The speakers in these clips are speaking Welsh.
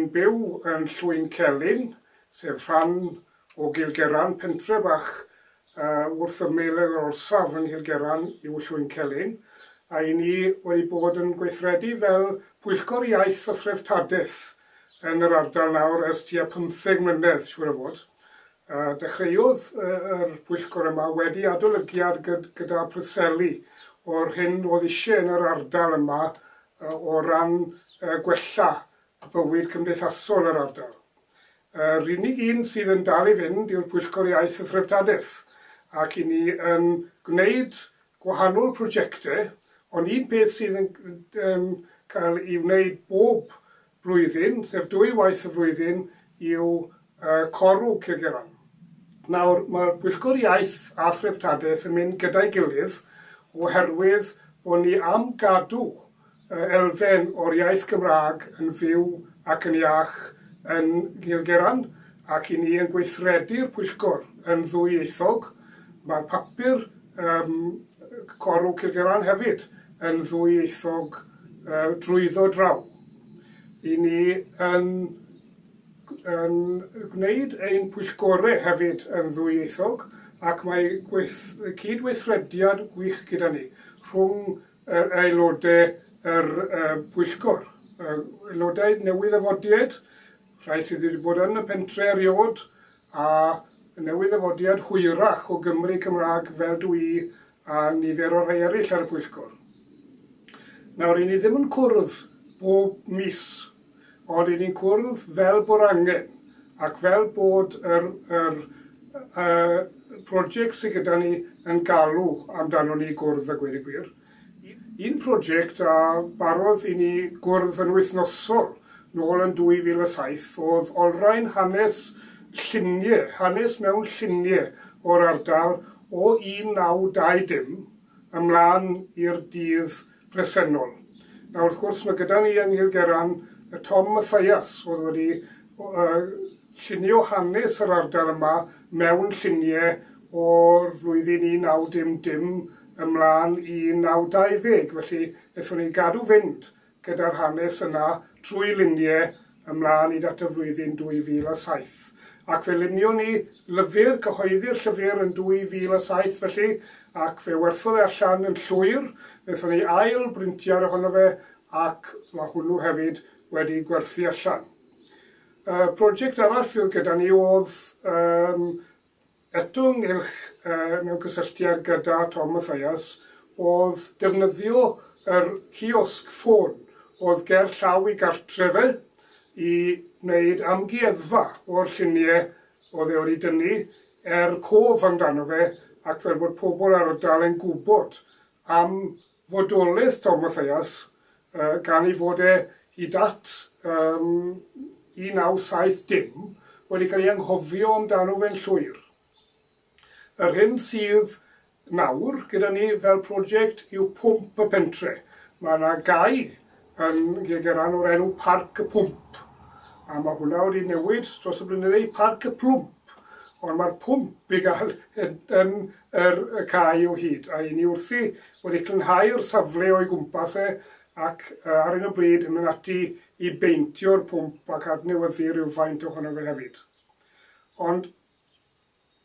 Dwi'n byw yn Llwyn Celyn, sef rhan o Gilgerran, pentre bach wrth ymyl yr orsaf yng Nghilgerran yw Llwyn Celyn, a i ni wedi bod yn gweithredu fel Pwyllgor Iaith a Threftadaeth yn yr ardal nawr ers tua 15 mlynedd, siŵr o fod. Dechreuodd yr pwyllgor yma wedi adolygiad gyda Preseli o'r hyn oedd eisiau yn yr ardal yma o ran gwella bywyd cymdeithasol yr ardal. Yr unig un sydd yn dal i fynd yw'r Pwyllgor Iaith a Threftadaeth, ac i ni yn gwneud gwahanol prosiectau, ond un peth sydd yn, yn cael ei wneud bob blwyddyn, sef dwy waith y flwyddyn, yw Corw Cilgerran. Nawr, mae'r Pwyllgor Iaith a Threftadaeth yn mynd gyda'i gilydd oherwydd bod ni am gadw elfen o'r iaith Gymraeg yn fyw ac yn iach yn Nghilgerran, ac i ni yn gweithredu'r pwyllgor yn ddwyieithog. Mae'r papur um, Corw Cilgerran hefyd yn ddwyieithog drwyddo draw. I ni yn, yn gwneud ein pwyllgorau hefyd yn ddwyieithog ac mae gweith, cydweithrediad gwych gyda ni rhwng yr aelodau yr pwyllgor. Aelodau newydd ddyfodiad, rhai sydd wedi bod yn y pentre erioed, a newydd ddyfodiad hwyrach o Gymru Cymraeg fel dw i a nifer o rhai eraill ar y pwyllgor. Nawr, i ni ddim yn cwrdd bob mis, ond i ni'n cwrdd fel bod angen, ac fel bod yr, yr uh, prosiect sydd gyda ni yn galw amdano ni gwrdd a gweud y gwir. Un prosiect a barodd i ni gwrdd yn wythnosol nôl yn 2007 oedd olrhain hanes lluniau, hanes mewn lluniau o'r ardal o 1920 ymlaen i'r dydd presennol. Nawr wrth gwrs mae gyda ni yng Nghilgerran y Tom Mathias oedd wedi llunio hanes yr ardal yma mewn lluniau o'r flwyddyn 1900 ymlaen i 1920, felly wnaethon ni gadw fynd gyda'r hanes yna trwy luniau ymlaen hyd at y flwyddyn 2007. Ac fe lunion ni lyfr, cyhoeddi'r llyfr yn 2007 felly, ac fe werthodd e allan yn llwyr, wnaethon ni ail brintiad ohono fe ac mae hwnnw hefyd wedi gwerthu allan. Prosiect arall fydd gyda ni oedd um, eto ynghylch uh, mewn cysylltiad gyda Tom Mathias oedd defnyddio yr ciosg ffôn oedd ger llaw i gartre fe i wneud amgueddfa o'r lluniau oedd e wedi dynnu er cof amdano fe ac fel bod pobl ar y dal yn gwybod am fodolaeth Tom Mathias gan ei fod e hyd at um, 1970 wedi cael ei anghofio amdano fe'n llwyr. Yr hyn sydd nawr gyda ni fel prosiect yw Pwmp y Pentre. Mae yna gae yn Gilgerran o'r enw Parc y Pwmp. A mae hwnna wedi newid dros y blynyddoedd i Parc y Plwmp. Ond mae'r pwmp i gael yn, yn yr y cae o hyd. A i ni wrthi wedi clynhau'r safle o'i gwmpas e ac ar hyn o bryd yn mynd ati i beintio'r pwmp ac adnewyddu rhywfaint ohono fe hefyd. Ond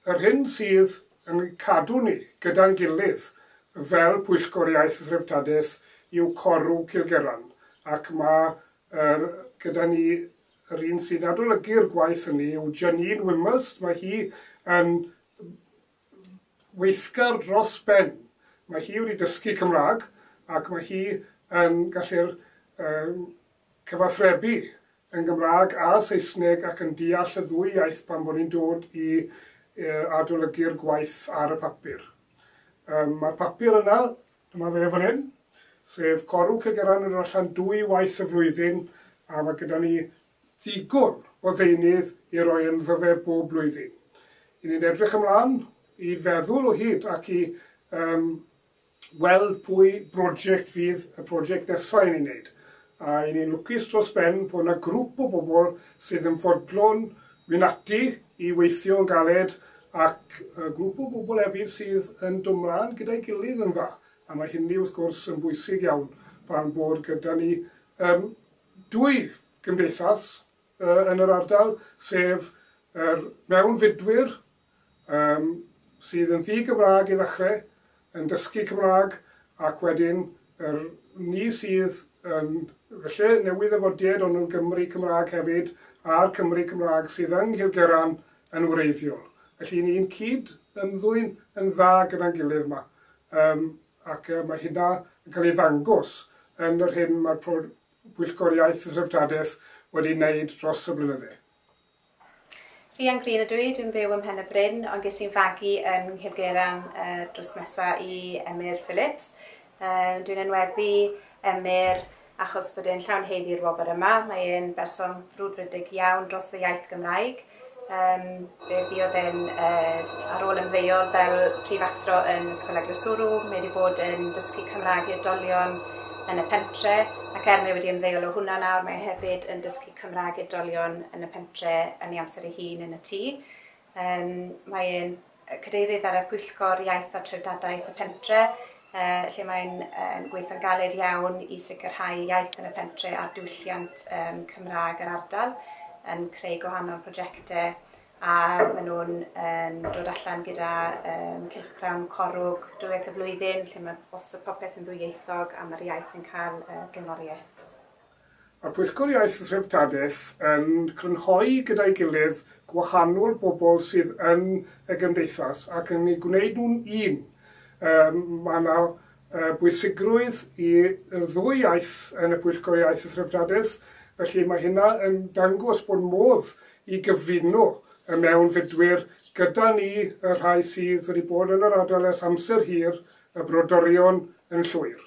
yr hyn sydd yn cadw ni gyda'n gilydd fel Pwyllgor Iaith a Threftadaeth yw Corw Cilgerran, ac mae er, gyda ni yr un sy'n adolygu'r gwaith hynny yw Janine Wimhurst, mae hi yn weithgar dros ben. Mae hi wedi dysgu Cymraeg ac mae hi yn gallu'r um, cyfathrebu yn Gymraeg a Saesneg ac yn deall y ddwy iaith pan bod ni'n dod i adolygu'r gwaith ar y papur. Um, mae'r papur yna, dyma fe fan hyn, sef Corw Cilgerran yn dod allan dwy waith y flwyddyn a mae gyda ni ddigon o ddeunydd i roi ynddo fe bob blwyddyn. I ni'n edrych ymlaen i feddwl o hyd ac i um, weld pwy brosiect fydd y prosiect nesaf i ni'n wneud. A i ni'n lwcus dros ben bod yna grŵp o bobl sydd yn fodlon mynd ati i weithio yn galed ac grŵp o bobl hefyd sydd yn dod mlaen gyda'i gilydd yn dda. A mae hynny wrth gwrs yn bwysig iawn pan bod gyda ni um, dwy gymdeithas yn yr ardal, sef yr mewnfudwyr sydd yn ddi-Gymraeg i ddechrau, yn dysgu Cymraeg, ac wedyn yr ni sydd yn felly newydd ddyfodiad ond yn Gymry Cymraeg hefyd, a'r Cymry Cymraeg sydd yng Nghilgerran yn wreiddiol. Felly ni'n cyd ymddwyn yn dda gyda'n gilydd yma. Ac mae hynna yn cael ei ddangos yn yr hyn mae'r Pwyllgor Iaith a Threftadaeth wedi wneud dros y blynydde. Rhian Green ydw i, dwi'n byw ym Mhen y Bryn, ond ges i'n fagu yn Nghilgerran drws nesa i Emyr Phillips. Dwi'n enwebu Emyr achos bod e'n llawn haeddu'r wobr yma. Mae e'n berson frwdfrydig iawn dros y iaith Gymraeg. Fe fuodd e'n ar ôl ymddeol fel prifathro yn Ysgol Eglwyswrw, mae wedi bod yn dysgu Cymraeg i oedolion yn y pentre, ac er mae wedi ymddeol o hwnna nawr, mae hefyd yn dysgu Cymraeg i oedolion yn y pentre yn ei amser ei hun yn y tŷ. Mae e'n cadeirydd ar y pwyllgor iaith a treftadaeth y pentre, lle mae'n gweithio'n galed iawn i sicrhau iaith yn y pentre a'r diwylliant Cymraeg yr ardal, yn creu gwahanol prosiectau, a maen nhw'n dod allan gyda cylchgrawn Corwg dwywaith y flwyddyn, lle mae bosib popeth yn ddwyieithog a mae'r iaith yn cael blaenoriaeth. Mae'r Pwyllgor Iaith a Threftadaeth yn crynhoi gyda'i gilydd gwahanol bobl sydd yn y gymdeithas ac yn eu gwneud nhw'n un. Mae yna bwysigrwydd i'r ddwy iaith yn y Pwyllgor Iaith a Threftadaeth, felly mae hynna yn dangos bod modd i gyfuno y mewnfudwyr gyda ni, y rhai sydd wedi bod yn yr ardal ers amser hir, y brodorion yn llwyr.